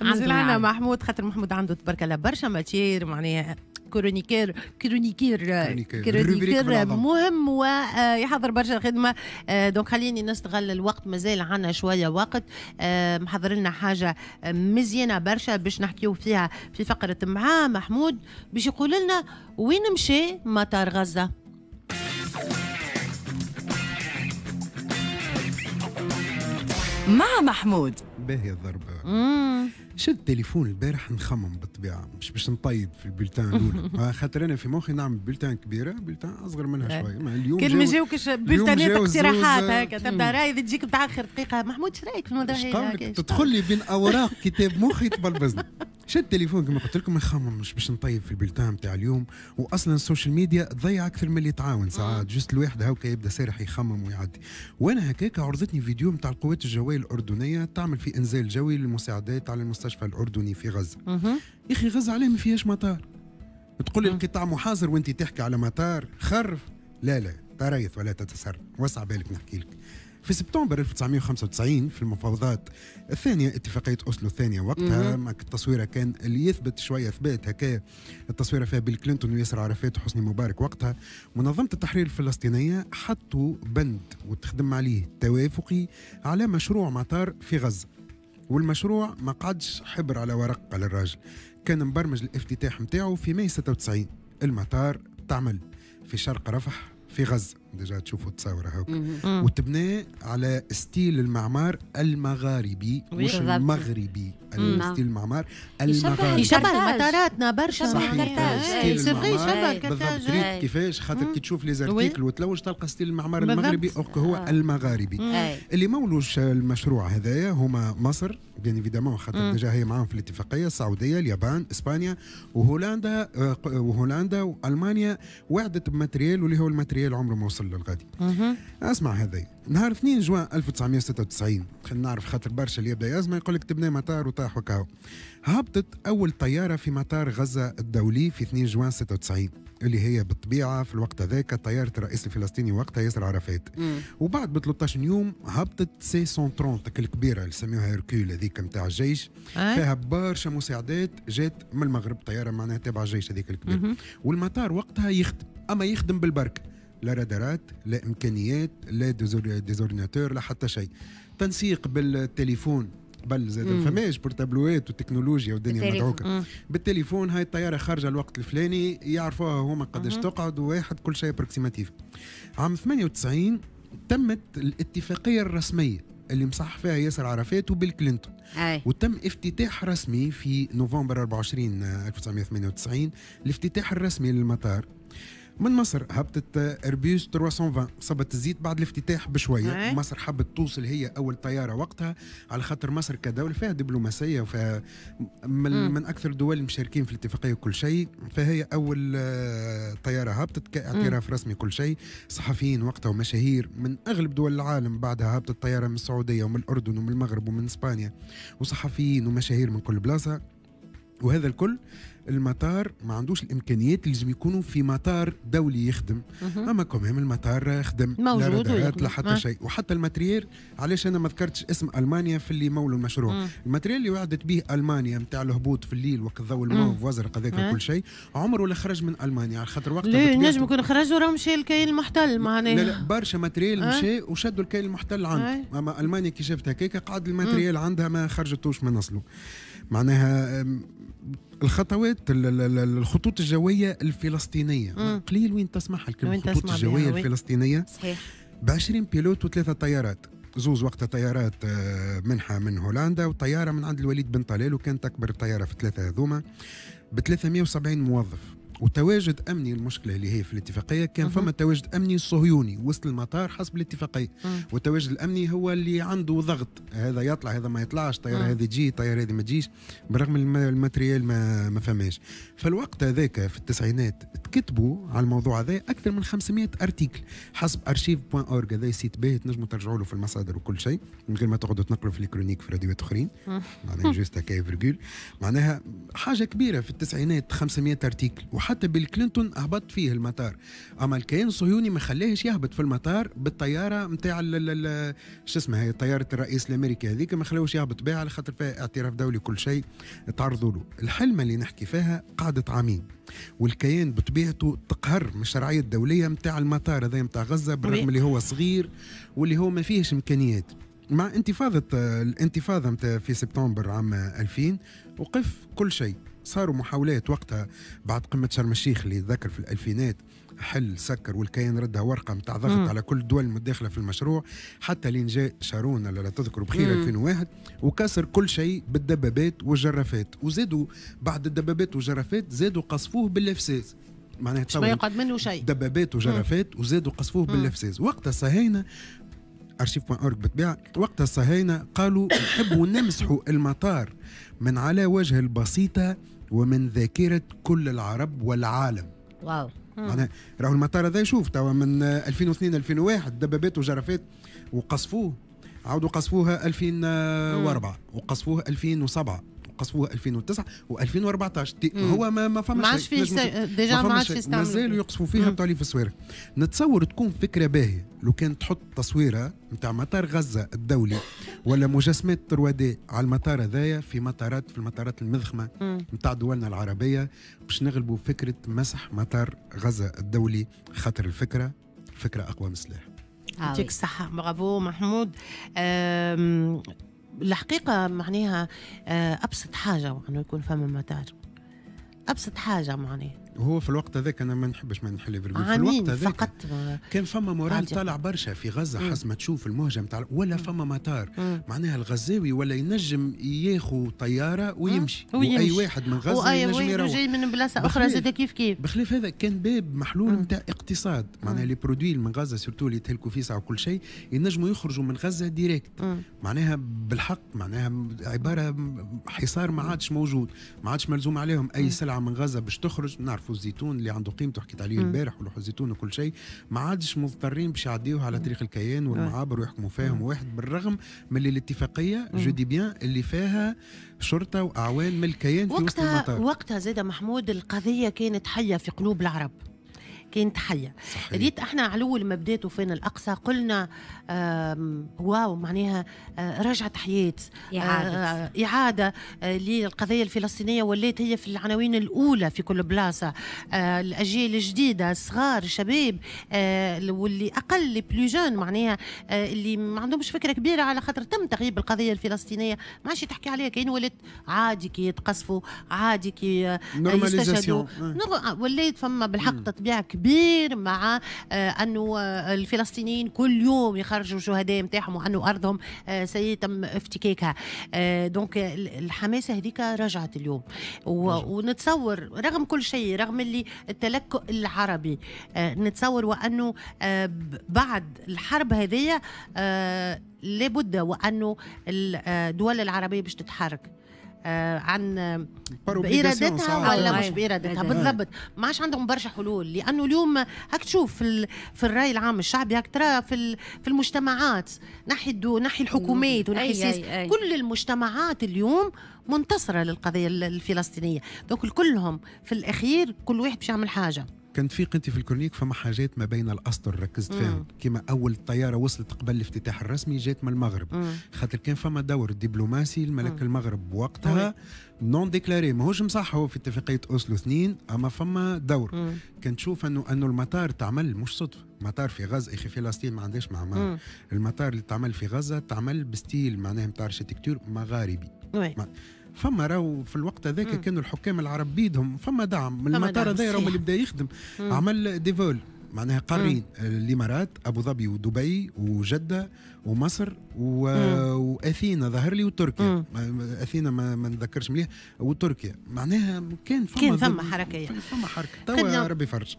مازال عندنا محمود، خاطر محمود عنده تبارك الله برشا matière، معناها chroniqueur مهم ويحضر برشا خدمة. donc خليني نستغل الوقت، مازال عندنا شوية وقت. محضر لنا حاجة مزيانه برشا باش نحكيو فيها في فقره مع محمود، باش يقول لنا وين مشى مطار غزة. مع محمود. باهي الضربة. شد التليفون البارح نخمم بالطبيعة مش باش نطيب في ال bulletin الأولى، خاطر أنا في مخي نعمل bulletin كبيرة، bulletin أصغر منها شوية. اليوم كل ما جاوكش bulletin ات اقتراحات هكا تبدا راي تجيك متأخر دقيقة. محمود شو رايك في الموضوع هذا؟ تدخل لي بين أوراق كتاب مخي تبلبزني. شد التليفون كما قلت لكم نخمم مش باش نطيب في ال bulletin نتاع اليوم، واصلا ال social media تضيع اكثر من اللي تعاون ساعات. juste الواحد هاكا يبدا سارح يخمم ويعدي. وانا هكاك عرضتني فيديو نتاع القوات الجوية الاردنية تعمل في انزال جوي للمساعدات على المستشفى الاردني في غزة. يا اخي غزة عليه ما فيهاش مطار. تقول لي القطاع محاصر وانت تحكي على مطار خرف. لا لا تريث ولا تتسرع، وسع بالك نحكي لك. في سبتمبر 1995 في المفاوضات الثانية، اتفاقية أوسلو الثانية وقتها، التصويرة كان اللي يثبت شوية ثبات هكا، التصويرة فيها بيل كلينتون وياسر عرفات وحسني مبارك وقتها. منظمة التحرير الفلسطينية حطوا بند وتخدم عليه توافقي على مشروع مطار في غزة، والمشروع ما قعدش حبر على ورق على الراجل، كان مبرمج الافتتاح متاعه في ماي 96. المطار تعمل في شرق رفح في غزة، déjà تشوفوا التصاور هاك، وتبنى على style المعمار المغاربي مش المغربي، style المعمار المغاربي يشبه مطاراتنا برشا. صحيح، c'est vrai يشبه بالضبط. ريت كيفاش؟ خاطر كي تشوف les articles وتلوج تلقى style المعمار المغربي او هو المغاربي. اللي مولوش المشروع هذايا هما مصر bien évidemment، خاطر déjà هي معاهم في الاتفاقية، السعودية، اليابان، اسبانيا وهولندا، وهولندا والمانيا وعدت ب matériel، واللي هو ال matériel عمره ما وصل للغادي. اسمع هذا نهار 2 جوان 1996، خلينا نعرف خاطر برشا اللي يبدا يزمع يقول لك تبنى مطار وطاح وكاو. هبطت اول طيارة في مطار غزة الدولي في 2 جوان 96، اللي هي بالطبيعة في الوقت هذاك طيارة الرئيس الفلسطيني وقتها ياسر عرفات. وبعد ب 13 يوم هبطت C 130 الكبيرة اللي سميوها هيركول هذيك نتاع الجيش، فيها برشا مساعدات جات من المغرب، طيارة معناها تابعه الجيش هذيك الكبيرة. والمطار وقتها يخدم، اما يخدم بالبركة، لا رادارات، لا امكانيات، لا des ordinateurs، لا حتى شيء. تنسيق بالتليفون قبل زاد ما فماش portable وات وتكنولوجيا والدنيا مدعوكه. بالتليفون هاي الطيارة خارجه الوقت الفلاني يعرفوها هما قداش تقعد، وواحد كل شيء approximatif. عام 98 تمت الاتفاقية الرسمية اللي مصح فيها ياسر عرفات وبيل كلينتون. وتم افتتاح رسمي في نوفمبر 24 1998 الافتتاح الرسمي للمطار. من مصر هبطت اربيوس 320 صبت الزيت بعد الافتتاح بشوية. مصر حبت توصل هي اول طيارة وقتها، على خاطر مصر كدولة فيها دبلوماسية وفيها من اكثر الدول المشاركين في الاتفاقية وكل شيء، فهي اول طيارة هبطت كاعتراف رسمي كل شيء. صحفيين وقتها ومشاهير من اغلب دول العالم، بعدها هبطت طيارة من السعودية ومن الاردن ومن المغرب ومن اسبانيا، وصحفيين ومشاهير من كل بلاصة. وهذا الكل المطار ما عندوش الامكانيات اللي لازم يكونوا في مطار دولي يخدم. اما quand même المطار خدم، لا رادارات لا حتى شيء. وحتى ال matériel، علاش انا ما ذكرتش اسم المانيا في اللي مولوا المشروع؟ ال matériel اللي وعدت به المانيا نتاع الهبوط في الليل وقت الضوء الموف وازرق هذاك كل شيء، عمره لا خرج من المانيا، على خاطر وقتها ليه نجم يكون خرج وراه مشى الكيل المحتل معناها. لا لا برشا matériel مشى وشدوا الكيل المحتل عنده. اما المانيا كي شافت هكاك قعد ال matériel عندها ما خرجتوش من اصله. معناها الخطوات الخطوط الجوية الفلسطينية قليل وين تسمعها الكلمة الخطوط الجوية الفلسطينية. صحيح. ب 20 pilote وثلاثة طيارات، زوز وقتها طيارات منحه من هولندا وطياره من عند الوليد بن طلال، وكانت اكبر طيارة في الثلاثة هذوما، ب 370 موظف. وتواجد امني، المشكلة اللي هي في الاتفاقية كان فما تواجد امني صهيوني وسط المطار حسب الاتفاقية. والتواجد الامني هو اللي عنده ضغط، هذا يطلع هذا ما يطلعش، طيارة هذه تجي طيارة هذه ما تجيش، بالرغم ال matériel ما فماش. فالوقت هذاك في التسعينات تكتبوا على الموضوع هذا اكثر من 500 article حسب archive.org، هذا site باهي تنجموا ترجعوا له في المصادر وكل شيء من غير ما تقعدوا تنقلوا في ال chroniques في راديوات اخرين. معناها juste هكا virgule، معناها حاجة كبيرة في التسعينات 500 article. وحتى بيل كلينتون هبط فيه المطار، اما الكيان الصهيوني ما خلاهش يهبط في المطار بالطيارة نتاع شو اسمها هي طيارة الرئيس الامريكي هذيك، ما خلاوش يهبط بها على خاطر فيها اعتراف دولي كل شيء تعرضوا له. الحلمة اللي نحكي فيها قعدت عامين، والكيان بطبيعته تقهر من الشرعية الدولية نتاع المطار هذا نتاع غزة، بالرغم اللي هو صغير واللي هو ما فيهش امكانيات. مع الانتفاضة في سبتمبر عام 2000 وقف كل شيء. صاروا محاولات وقتها بعد قمة شرم الشيخ اللي ذكر في الألفينات، حل سكر، والكيان ردها ورقة متاع ضغط على كل الدول المتداخلة في المشروع، حتى لين جاء شارون لا تذكروا بخير 2001 وكسر كل شيء بالدبابات والجرافات، وزادوا بعد الدبابات والجرافات زادوا قصفوه بالافساس، معناها ما يقعد منه شيء، دبابات وجرافات وزادوا قصفوه بالافساس. وقتها الصهاينة archive.org بالطبيعة، وقتها الصهاينة قالوا نحبوا نمسحوا المطار من على وجه البسيطة ومن ذاكره كل العرب والعالم. واو، معناها راهو المطار هذا يشوف توا من 2002 2001 دبابات وجرافات وقصفوه، عاودوا قصفوها 2004 وقصفوه 2007 وقصفوه 2009 و2014. هو ما فما شيء، déjà ما عادش يستعملوا، مازالوا يقصفوا فيها بتاع في الصويره. نتصور تكون فكرة باهيه لو كان تحط تصويره نتاع مطار غزة الدولي ولا مجسمات 3D على المطار هذايا في مطارات، في المطارات المضخمه نتاع دولنا العربية، باش نغلبوا فكرة مسح مطار غزة الدولي، خاطر الفكرة فكرة اقوى من السلاح. يعطيك الصحة، برافو محمود. الحقيقة معناها أبسط حاجة أنه يكون فما مطار، أبسط حاجة معناها. هو في الوقت هذاك أنا ما نحبش ما نحل في الوقت هذاك فقط كان فما moral طالع برشا في غزة، حسب ما تشوف المهجة نتاع ولا فما مطار، معناها الغزاوي ولا ينجم ياخو طيارة ويمشي، وأي واحد من غزة ينجم يروح جاي من بلاصة أخرى زاد كيف كيف. بخلاف هذا كان باب محلول نتاع اقتصاد، معناها les produits من غزة surtout اللي يتهلكوا فيه ساعة وكل شيء ينجموا يخرجوا من غزة direct، معناها بالحق معناها عبارة حصار ما عادش موجود، ما عادش ملزوم عليهم أي سلعة من غزة باش تخرج. نعرفوا الزيتون اللي عنده قيمته حكيت عليه البارح، ولوح الزيتون وكل شيء ما عادش مضطرين باش يعديوه على طريق الكيان والمعابر ويحكموا فيهم واحد، بالرغم من اللي الاتفاقية je dis bien اللي فيها شرطه واعوان من الكيان في وسط المطار. وقتها زاد محمود القضية كانت حيه في قلوب العرب، كانت حيه. ريت احنا على اول ما بدات وفين الاقصى قلنا واو، معناها رجعت حياة، اعاده للقضية الفلسطينية، ولات هي في العناوين الاولى في كل بلاصة. الاجيال الجديدة، الصغار، الشباب، واللي اقل plus jeunes معناها اللي ما عندهمش فكرة كبيرة على خاطر تم تغييب القضية الفلسطينية، ما عادش تحكي عليها، كاين ولات عادي كي يتقصفوا، عادي كي يستشهدوا، ولات فما بالحق تطبيع كبير مع أنه الفلسطينيين كل يوم يخرجوا شهداء نتاعهم وأنه أرضهم سيتم افتكاكها. donc الحماسة هذيك رجعت اليوم، ونتصور رغم كل شيء، رغم اللي التلكؤ العربي، نتصور وأنه بعد الحرب هذه لابد وأنه الدول العربية باش تتحرك عن بإرادتها ولا مش بإرادتها. بالضبط، ما عادش عندهم برشا حلول، لأنه اليوم هاك تشوف في الرأي العام الشعبي، هاك ترى في المجتمعات، نحي الحكومات ونحي السياسة، كل المجتمعات اليوم منتصرة للقضية الفلسطينية. donc كلهم في الأخير كل واحد باش يعمل حاجة. كان في قنتي في ال chronique فما حاجات ما بين الاسطر ركزت فيهم، كما اول طيارة وصلت قبل الافتتاح الرسمي جات من المغرب، خاطر كان فما دور دبلوماسي الملك المغرب وقتها non déclaré، ماهوش مصح هو في اتفاقية اوسلو 2، اما فما دور. كان تشوف انه المطار تعمل مش صدفة، مطار في غزة، اخي فلسطين ما عندهاش معمار، المطار اللي تعمل في غزة تعمل ب style معناها نتاع architecture مغاربي. فما راهو في الوقت هذاك كانوا الحكام العرب بيدهم فما دعم من المطار هذا، راهو اللي بدا يخدم عمل des vols معناها قارين الامارات، ابو ظبي ودبي وجده ومصر واثينا ظهر لي وتركيا، اثينا ما نتذكرش مليح، وتركيا معناها كان فما حركة، فما حركة توا ربي يفرج.